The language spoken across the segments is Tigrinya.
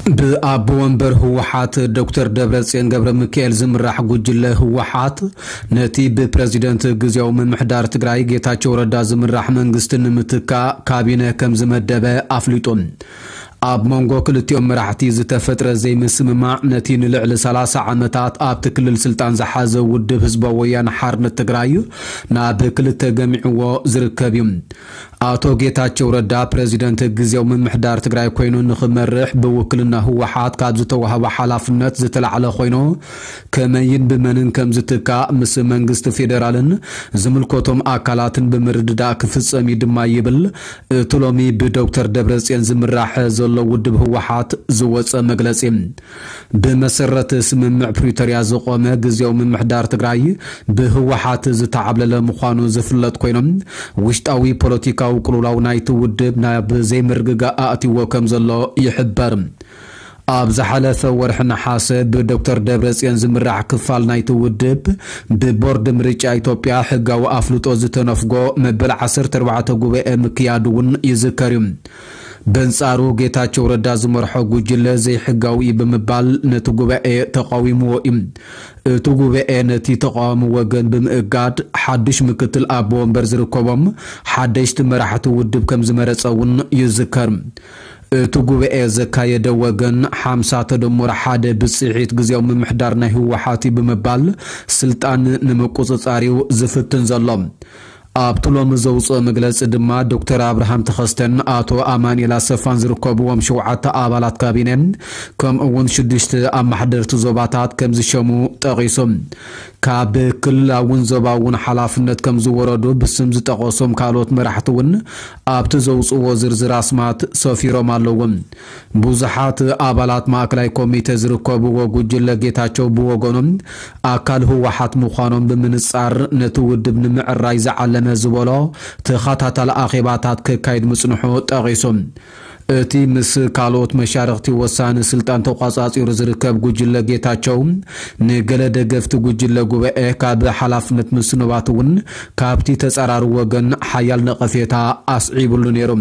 ብኣቦ ወንበር ህወሓት ዶክተር ደብረጽዮን ገብረ ሚካኤል ዝምራሕ ጉጅለ ህወሓት፣ ነቲ ብፕረዚደንት ግዜያዊ ምምሕዳር ትግራይ ጌታቸው ረዳ ዝምራሕ መንግስቲ ንምትካእ ካቢነ ከም ዝመደበ ኣፍሊጡ። ኣብ መንጎ ክልቲኦም መራሕቲ ዝተፈጥረ ዘይምስምማዕ፣ ነቲ ንልዕሊ ሰላሳ ዓመታት ኣብቲ ክልል ስልጣን ዝሓዘ ውድብ ህዝባዊ ወያነ ሓርነት ትግራይ ናብ ክልተ ገሚዕዎ ዝርከብ እዩ። ኣቶ ጌታቸው ረዳ ፕረዚደንት ግዜያዊ ምምሕዳር ትግራይ ኮይኑ ንኽመርሕ ብውክልና ህወሓት ካብ ዝተዋህበ ሓላፍነት ዝተላዕለ ኮይኑ፣ ከመይን ብመንን ከም ዝትካእ ምስ መንግስቲ ፌደራልን ዝምልከቶም ኣካላትን ብምርድዳእ ክፍጸም እዩ ድማ ይብል እቲ ሎሚ ብዶክተር ደብረጽዮን ዝምራሕ ዘሎ ውድብ ህወሓት ዝወጸ መግለጺ። ብመሰረት ስምምዕ ፕሪቶርያ ዝቖመ ግዜያዊ ምምሕዳር ትግራይ ብህወሓት ዝተዓብለለ ምዃኑ ዝፍለጥ ኮይኖም፣ ውሽጣዊ ፖለቲካዊ ቅልውላው ናይቲ ውድብ ናብ ዘይምርግጋእ ኣእትይዎ ከም ዘሎ ይሕበር። ኣብ ዝሓለፈ ወርሒ ነሓሰ ብዶክተር ደብረጽዮን ዝምራሕ ክፋል ናይቲ ውድብ ብቦርድ ምርጫ ኢትዮጵያ ሕጋዊ ኣፍልጦ ዝተነፍጎ መበል ዓሰርተ ኣርባዕተ ጉባኤ ምክያዱ እውን ይዝከር እዩ። በንጻሩ ጌታቸው ረዳ ዝመርሖ ጉጅለ ዘይሕጋዊ እዩ ብምባል ነቲ ጉባኤ ተቃዊምዎ እዩ። እቲ ጉባኤ ነቲ ተቃዋሚ ወገን ብምእጋድ ሓድሽ ምክትል ኣቦ ወንበር ዝርከቦም ሓደሽቲ መራሕቲ ውድብ ከም ዝመረጸ እውን ይዝከር። እቲ ጉባኤ ዘካየደ ወገን ሓምሳ ተደምሮ ሓደ ብጽሒት ግዜያዊ ምምሕዳር ናይ ህወሓት እዩ ብምባል ስልጣን ንምቁጽጻር እዩ ዝፍትን ዘሎ። ኣብቲ ሎሚ ዘውፅኦ መግለፂ ድማ ዶክተር ኣብርሃም ተኸስተን ኣቶ ኣማኑኤል ኣሰፋን ዝርከብዎም ሸውዓተ ኣባላት ካቢነ ከምኡ እውን ሽዱሽተ ኣመሓደርቲ ዞባታት ከም ዝሸሙ ጠቒሱ። ካብ ክልላውን ዞባውን ሓላፍነት ከም ዝወረዱ ብስም ዝጠቐሶም ካልኦት መራሕቲ እውን ኣብቲ ዘውፅዎ ዝርዝር ኣስማት ሰፊሮም ኣለዉ። ብዙሓት ኣባላት ማእከላይ ኮሚቴ ዝርከብዎ ጉጅለ ጌታቸው ብወገኖም ኣካል ህወሓት ምዃኖም ብምንጻር ነቲ ውድብ ንምዕራይ ዝዓለመ ዝበሎ ተኸታታሊ ኣኼባታት ከካይድ ምጽንሑ ጠቒሱ። እቲ ምስ ካልኦት መሻርኽቲ ወሳኒ ስልጣን ተቋጻጺሩ ዝርከብ ጉጅለ ጌታቸው ንገለ ደገፍቲ ጉጅለ ጉባኤ ካብ ሓላፍነት ምስንባት እውን ካብቲ ተጻራሪ ወገን ሓያል ነቐፌታ ኣስዒብሉ ነይሩ።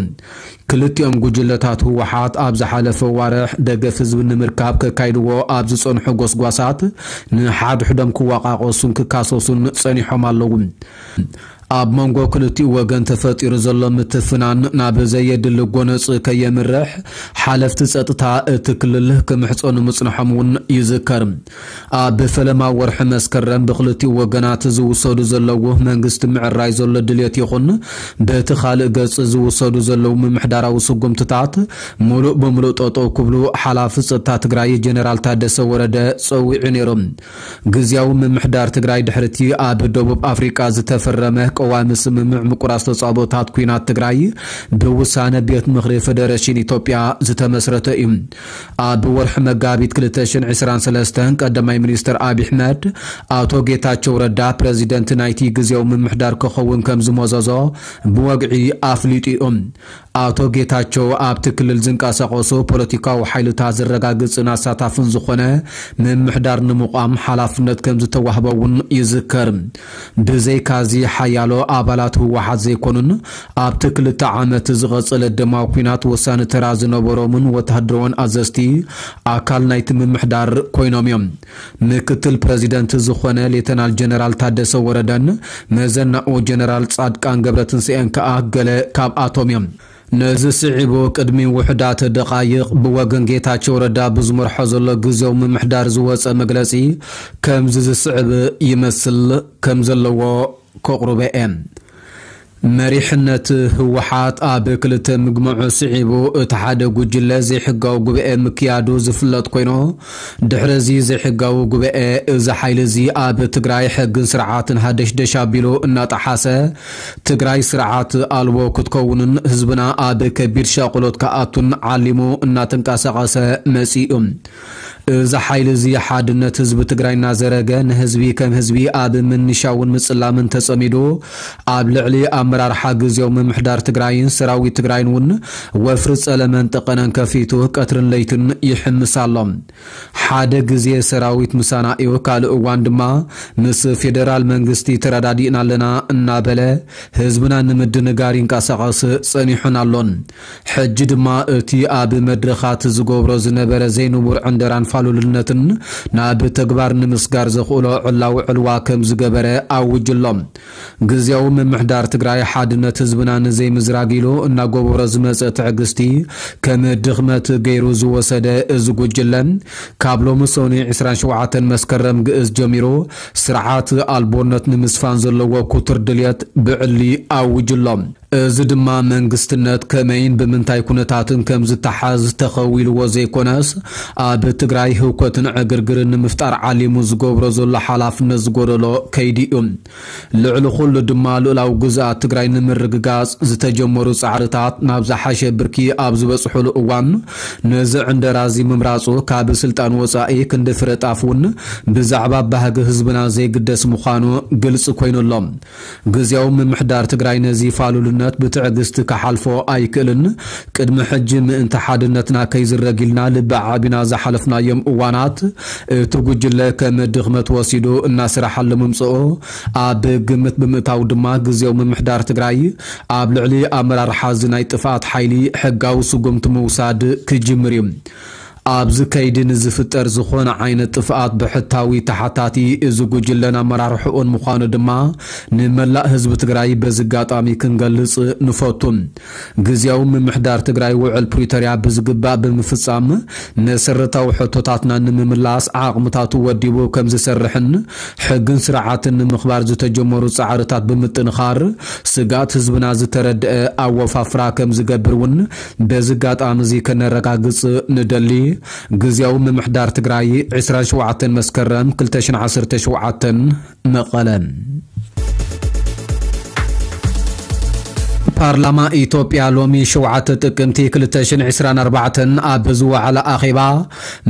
ክልቲኦም ጉጅለታት ህወሓት ኣብ ዝሓለፈ ዋርሕ ደገፍ ህዝቢ ንምርካብ ከካይድዎ ኣብ ዝጸንሑ ጎስጓሳት ንሓድሕዶም ክወቃቀሱን ክካሰሱን ጸኒሖም ኣለዉ። ኣብ መንጎ ክልቲኡ ወገን ተፈጢሩ ዘሎ ምትፍናን ናብ ዘየድሊ ጎነጽ ከየምርሕ ሓለፍቲ ጸጥታ እቲ ክልል ክምሕጸኑ ምጽንሖም እውን ይዝከር። ኣብ ፈለማ ወርሒ መስከረም ብክልቲኡ ወገናት ዝውሰዱ ዘለዉ መንግስቲ ምዕራይ ዘሎ ድልየት ይኹን በቲ ካልእ ገጽ ዝውሰዱ ዘለዉ ምምሕዳራዊ ስጉምትታት ሙሉእ ብምሉእ ጠጠው ክብሉ ሓላፊ ጸጥታ ትግራይ ጀነራል ታደሰ ወረደ ጸዊዑ ነይሩ። ግዝያዊ ምምሕዳር ትግራይ ድሕርቲ ኣብ ደቡብ ኣፍሪቃ ዝተፈረመ ቀዋሚ ስምምዕ ምቁራጽ ተጻብኦታት ኲናት ትግራይ ብውሳነ ቤት ምኽሪ ፌደሬሽን ኢትዮጵያ ዝተመስረተ እዩ። ኣብ ወርሒ መጋቢት ክልተ ሽሕን ዕስራን ሰለስተን ቀዳማይ ሚኒስትር ኣብይ ኣሕመድ ኣቶ ጌታቸው ረዳ ፕረዚደንት ናይቲ ግዝያዊ ምምሕዳር ክኸውን ከም ዝመዘዞ ብወግዒ ኣፍሊጡ እዩ። ኣቶ ጌታቸው ኣብቲ ክልል ዝንቀሳቐሱ ፖለቲካዊ ሓይልታት ዘረጋግጽን ኣሳታፍን ዝኾነ ምምሕዳር ንምቋም ሓላፍነት ከም ዝተዋህበ እውን ይዝከር። ብዘይካዚ ሓያሎ ኣባላት ህወሓት ዘይኮኑን ኣብቲ ክልተ ዓመት ዝቐጸለ ደማዊ ኲናት ወሳኒ ተራ ዝነበሮምን ወተሃደራውን ኣዘዝቲ ኣካል ናይቲ ምምሕዳር ኮይኖም እዮም። ምክትል ፕረዚደንት ዝኾነ ሌተናል ጀነራል ታደሰ ወረደን መዘናኡ ጀነራል ጻድቃን ገብረትንሳኤን ከኣ ገለ ካብኣቶም እዮም። ነዚ ስዒቡ ቅድሚ ውሑዳት ደቓይቕ ብወገን ጌታቸው ረዳ ብዝመርሖ ዘሎ ግዝያዊ ምምሕዳር ዝወጸ መግለጺ ከምዚ ዝስዕብ ይመስል ከም ዘለዎ ከቕርቦ እየ። መሪሕነት ህወሓት ኣብ ክልተ ምግምዑ ስዒቡ እቲ ሓደ ጉጅለ ዘይሕጋዊ ጉባኤ ምክያዱ ዝፍለጥ ኮይኑ፣ ድሕሪ እዚ ዘይሕጋዊ ጉባኤ እዚ ሓይሊ እዚ ኣብ ትግራይ ሕግን ስርዓትን ሃደሽደሽ ኣቢሉ እናጠሓሰ ትግራይ ስርዓት ኣልቦ ክትከውንን ህዝብና ኣብ ከቢድ ሻቕሎት ክኣቱን ዓሊሙ እናተንቀሳቐሰ መጺኡ። እዚ ሓይሊ እዚ ሓድነት ህዝቢ ትግራይ እናዘረገ፣ ንህዝቢ ከም ህዝቢ ኣብ ምንሻውን ምጽላምን ተጸሚዱ፣ ኣብ ልዕሊ ኣመራርሓ ግዜያዊ ምምሕዳር ትግራይን ሰራዊት ትግራይን እውን ወፍሪ ጸለመን ጠቐነን ከፊቱ ቀትርን ለይትን ይሕምስ ኣሎ። ሓደ ግዜ ሰራዊት ምሳና እዩ፣ ካልእ እዋን ድማ ምስ ፌደራል መንግስቲ ተረዳዲእና ኣለና እናበለ ህዝብና ንምድንጋር ይንቀሳቐስ ጸኒሑን ኣሎን። ሕጂ ድማ እቲ ኣብ መድረኻት ዝገብሮ ዝነበረ ዘይንቡር ዕንደራን ፋሉልነትን ናብ ተግባር ንምስጋር ዘኽእሎ ዕላዊ ዕልዋ ከም ዝገበረ ኣውጅሎም። ግዜያዊ ምምሕዳር ትግራይ ሓድነት ህዝብና ንዘይምዝራግ ኢሉ እናገበሮ ዝመጸ ትዕግስቲ ከም ድኽመት ገይሩ ዝወሰደ እዚ ጉጅለ፣ ካብ ሎሚ ሰኑይ ዕስራን ሸውዓተን መስከረም ግእዝ ጀሚሩ ስርዓት ኣልቦነት ንምስፋን ዘለዎ ክቱር ድልየት ብዕሊ ኣውጅሎም። እዚ ድማ መንግስትነት ከመይን ብምንታይ ኩነታትን ከም ዝተሓዝ ተኸዊልዎ ዘይኮነስ፣ ኣብ ትግራይ ህውከትን ዕግርግርን ንምፍጣር ዓሊሙ ዝገብሮ ዘሎ ሓላፍነት ዝጎደሎ ከይዲ እዩ። ልዕሊ ኩሉ ድማ ልኡላዊ ግዝኣት ትግራይ ንምርግጋጽ ዝተጀመሩ ጻዕርታት ናብ ዝሓሸ ብርኪ ኣብ ዝበጽሑሉ እዋን፣ ነዚ ዕንደራ እዚ ምምራጹ ካብ ስልጣን ወጻኢ ክንዲ ፍረ ጣፍ እውን ብዛዕባ ባህጊ ህዝብና ዘይግደስ ምዃኑ ግልጺ ኮይኑ ኣሎ። ግዜያዊ ምምሕዳር ትግራይ ነዚ ፋሉልነት ብትዕግስቲ ክሓልፎ ኣይክእልን። ቅድሚ ሕጂ ምእንቲ ሓድነትና ከይዝረግ ኢልና ልቢ ዓቢና ዝሓለፍናዮም እዋናት፣ እቲ ጉጅለ ከም ድኽመት ወሲዱ እናሰራሓሉ ምምጽኡ ኣብ ግምት ብምእታው ድማ ግዜያዊ ምምሕዳር ትግራይ ኣብ ልዕሊ ኣመራርሓ እዚ ናይ ጥፍኣት ሓይሊ ሕጋዊ ስጉምቲ ምውሳድ ክጅምር እዩ። ኣብዚ ከይዲ ንዝፍጠር ዝኾነ ዓይነት ጥፍኣት ብሕታዊ ተሓታቲ እዚ ጉጅለን ኣመራርሕኡን ምዃኑ ድማ ንመላእ ህዝቢ ትግራይ በዚ ኣጋጣሚ ክንገልጽ ንፈቱ። ግዜያዊ ምምሕዳር ትግራይ ውዕል ፕሪቶርያ ብዝግባእ ብምፍጻም መሰረታዊ ሕቶታትና ንምምላስ ዓቕምታቱ ወዲቡ ከም ዝሰርሕን ሕግን ስርዓትን ንምኽባር ዝተጀመሩ ጻዕርታት ብምጥንኻር ስግኣት ህዝብና ዝተረድአ ኣወፋፍራ ከም ዝገብር እውን በዚ ኣጋጣሚ እዚ ከነረጋግጽ ንደሊ። ግዜያዊ ምምሕዳር ትግራይ ዕስራን ሸውዓተን መስከረም ክልተ ሽሕን ዓሰርተ ሸውዓተን መቐለ። ፓርላማ ኢትዮጵያ ሎሚ ሸውዓተ ጥቅምቲ ክልተ ሽሕን ዕስራን ኣርባዕተን ኣብ ዝወዓለ ኣኼባ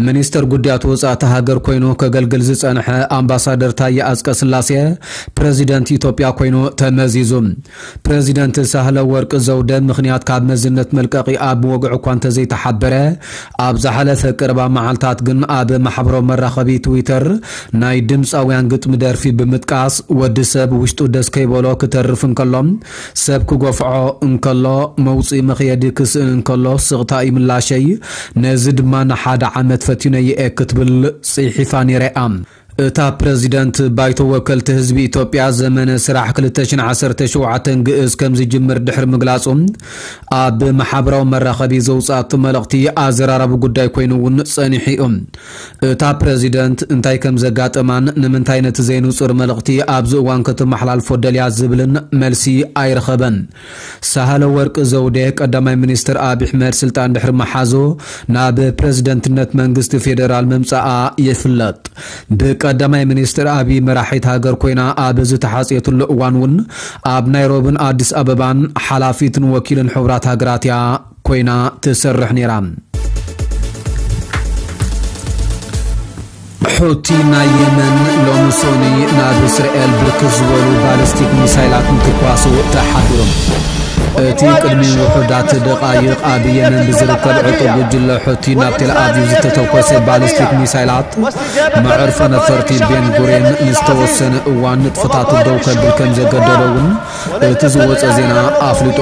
ሚኒስተር ጉዳያት ወጻእቲ ሃገር ኮይኑ ከገልግል ዝጸንሐ ኣምባሳደር ታየ ኣጽቀ ስላሴ ፕረዚደንት ኢትዮጵያ ኮይኑ ተመዚዙ። ፕረዚደንት ሳህለ ወርቅ ዘውደ ምኽንያት ካብ መዝነት መልቀቒ ኣብ ወግዒ እኳ እንተዘይተሓበረ፣ ኣብ ዝሓለፈ ቀረባ መዓልታት ግን ኣብ ማሕበራዊ መራኸቢ ትዊተር ናይ ድምፃውያን ግጥሚ ደርፊ ብምጥቃስ፣ "ወዲ ሰብ ውሽጡ ደስ ከይበሎ ክተርፍ እንከሎ፣ ሰብ ክገፍዖ እንከሎ፣ መውፅኢ መኽየዲ ክስእን እንከሎ ስቕታ እዩ ምላሸይ፣ ነዚ ድማ ንሓደ ዓመት ፈቲነዮ እየ" ክትብል ፅሒፋ ነይራ እያ። እታ ፕረዚደንት ባይቶ ወከልቲ ህዝቢ ኢትዮጵያ ዘመነ ስራሕ ክልተ ሽሕን ዓሰርተ ሸውዓተን ግእዝ ከም ዝጅምር ድሕሪ ምግላጹ፣ ኣብ ማሕበራዊ መራኸቢ ዘውጽኣቶ መልእኽቲ ኣዘራራቢ ጉዳይ ኮይኑ እውን ጸኒሑ እዩ። እታ ፕረዚደንት እንታይ ከም ዘጋጠማን ንምንታይ ነቲ ዘይንጹር መልእኽቲ ኣብዚ እዋን ከተመሓላልፎ ደልያ ዝብልን መልሲ ኣይረኸበን። ሳህለ ወርቅ ዘውዴ ቀዳማይ ሚኒስትር ኣብይ ኣሕመድ ስልጣን ድሕሪ ምሓዙ ናብ ፕረዚደንትነት መንግስቲ ፌዴራል ምምጻኣ ይፍለጥ። ብቀዳማይ ሚኒስትር ኣብይ መራሒት ሃገር ኮይና ኣብ ዝተሓጽየትሉ እዋን እውን ኣብ ናይሮብን ኣዲስ ኣበባን ሓላፊትን ወኪልን ሕቡራት ሃገራት እያ ኮይና ትሰርሕ ነይራ። ሑቲ ናይ የመን ሎሚ ሶኒ ናብ እስራኤል ብርክት ዝበሉ ባሊስቲክ ሚሳይላት ምትኳሱ ተሓቢሩ። እቲ ቅድሚ ውሑዳት ደቓይቕ ኣብ የመን ብዝርከብ ዕጡቕ ጉጅለ ሑቲ ናብ ቴል ኣቪቭ ዝተተኮሰ ባሊስቲክ ሚሳይላት መዕርፎ ነፈርቲ ቤን ጉሬን ንዝተወሰነ እዋን ንጥፈታቱ ደው ከብል ከም ዘገደዶ እውን እቲ ዝወጸ ዜና ኣፍሊጡ።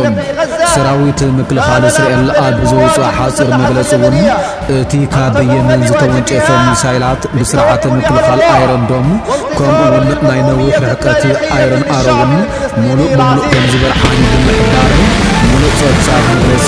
ሰራዊት ምክልኻል እስራኤል ኣብ ዘውጽኦ ሓጺር መግለጺ እውን፣ እቲ ካብ የመን ዝተወንጨፈ ሚሳይላት ብስርዓተ ምክልኻል ኣይረን ዶም፣ ከምኡ እውን ናይ ነዊሕ ርሕቀት ኣይረን ኣሮ እውን ምሉእ ብምሉእ ከም ዝበርዓን ብምሕባር፣ ምሉእ ጸብጻብ መግለጺ